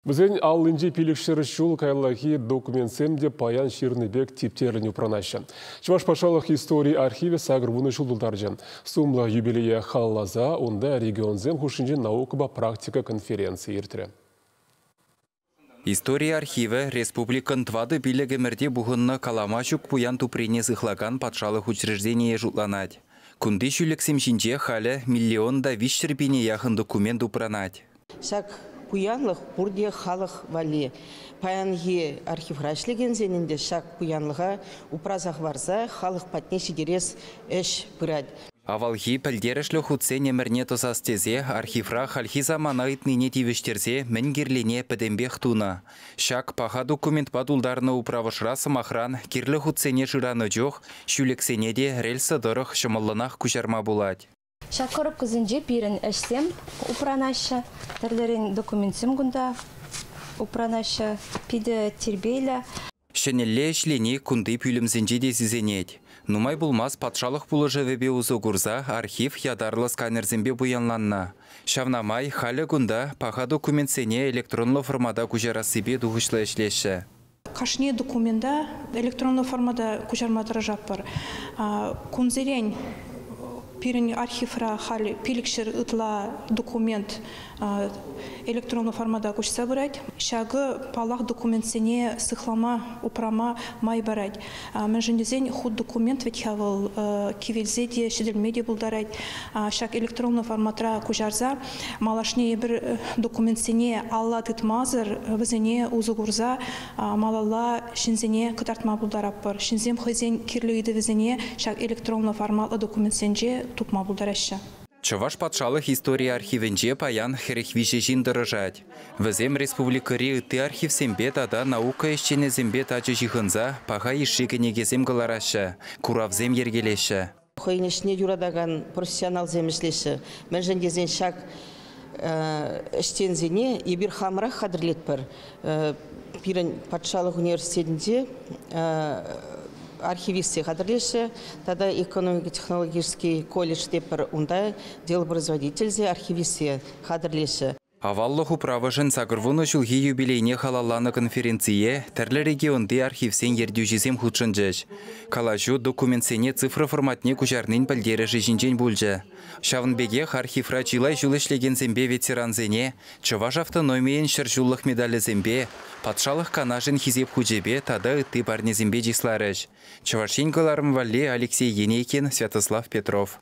Вӗсен аллинчи 500 ҫул каяллахи документсем те паян ҫырнӑ пек типтерлӗн упранаҫҫӗ. Чӑваш патшалӑх истори архивӗ 80 ҫул тултарчӗ. Сумлӑ юбилее халалласа унта регионсем хушшинчи наукӑпа практика конференцийӗ иртрӗ. Истори архивӗ республикӑн 4-5 ӗмӗрте пухӑннӑ калама ҫук пуян туприне сыхлакан патшалӑх учрежденийӗ шутланать. Кунти ҫӳлӗксем ҫинче халӗ 1 300 000 яхӑн документ упранать. Ҫак пуянлӑх пурте халӑх валли. Паянхи архивра ӗҫлекенсен ӗнтӗ ҫак пуянлӑха упраса хӑварса халӑх патне ҫитерес ӗҫ пырать. Авалхи пӗлтерӗшлӗ хутсен ӗмӗрне тӑсас тесе архивра хальхи самана ыйтнине тивӗҫтерсе мӗн кирлине пӗтӗмпех тунӑ. Ҫак паха документпа тултарнӑ управӑшра сӑмахран кирлӗ хутсене шыранӑ чух ҫӳлӗксене те рельса тӑрӑх ҫӑмӑллӑнах куҫарма пулать. Ҫак коробкӑсенче пирӗн ӗҫсем упранаҫҫӗ, тӗрлӗрен документсем кунта упранаҫҫӗ, питӗ тирпейлӗ. Ҫӗнӗлле ӗҫлени кунти пӳлӗмсенче те сисӗнет. Нумай пулмас патшалӑх пулӑшӑвӗпе усӑ курса архив ятарлӑ сканерсемпе пуянланнӑ. Ҫавна май халӗ кунта паха документсене электронлӑ формата куҫарассипе тухӑҫлӑ ӗҫлеҫҫӗ. Кашни документа электронлӑ формата куҫарма тӑрӑшатпӑр. Кунсерен пирӗн архивра халь 500 ытла документ электронлӑ формата куҫса пырать. Ҫакӑ паллах документсене сыхлама, упрама май парать. Мӗншӗн тесен хут документ вӗт-ха вӑл кивелсе те, ҫӗтӗлме те пултарать. Ҫак электронлӑ форматра куҫарса малашне эпир документсене алла тытмасӑр вӗсене усӑ курса малалла ҫынсене кӑтартма пултаратпӑр. Ҫынсем хӑйсен кирлӗ ыйтӑвӗсене ҫак электронлӑ форматлӑ документсенче тупма пултараҫҫӗ. Чӑваш патшалӑх истори архивӗнче паян 43 ҫын тӑрӑшать. Вӗсем республикӑри ытти архивсемпе тата наука ӗҫченӗсемпе тачӑ ҫыхӑнса паха йышши кӗнекесем кӑлараҫҫӗ, куравсем йӗркелеҫҫӗ. Хӑйӗн ӗҫне юратакан профессионалсем ӗҫлеҫҫӗ. Мӗншӗн тесен ҫак ӗҫченсене эпир хамӑрах хатӗрлетпӗр. Пирӗн патшалӑх университетӗнче архивистсем хатӗрлеҫҫӗ тата экономико-технологический колледж тепӗр унта делопроизводительсем, архивистсем хатӗрлеҫҫӗ. Аваллӑх управӑшӗн 80 ҫулхи юбилейне халалланӑ конференцие тӗрлӗ регионти архивсен ертӳҫисем хутшӑнчӗҫ. Калаҫу документсене цифра форматне куҫарнин пӗлтерӗшӗ ҫинчен пулчӗ. Ҫавӑн пекех архивра чылай ҫул ӗҫлекенсемпе ветерансене Чӑваш автономийӗн ҫӗр ҫуллӑх медалӗсемпе, патшалӑх канашӗн хисеп хучӗпе тата ытти парнесемпе чысларӗҫ. Чӑваш Ен кӑларӑм валли Алексей Енейкин, Святослав Петров.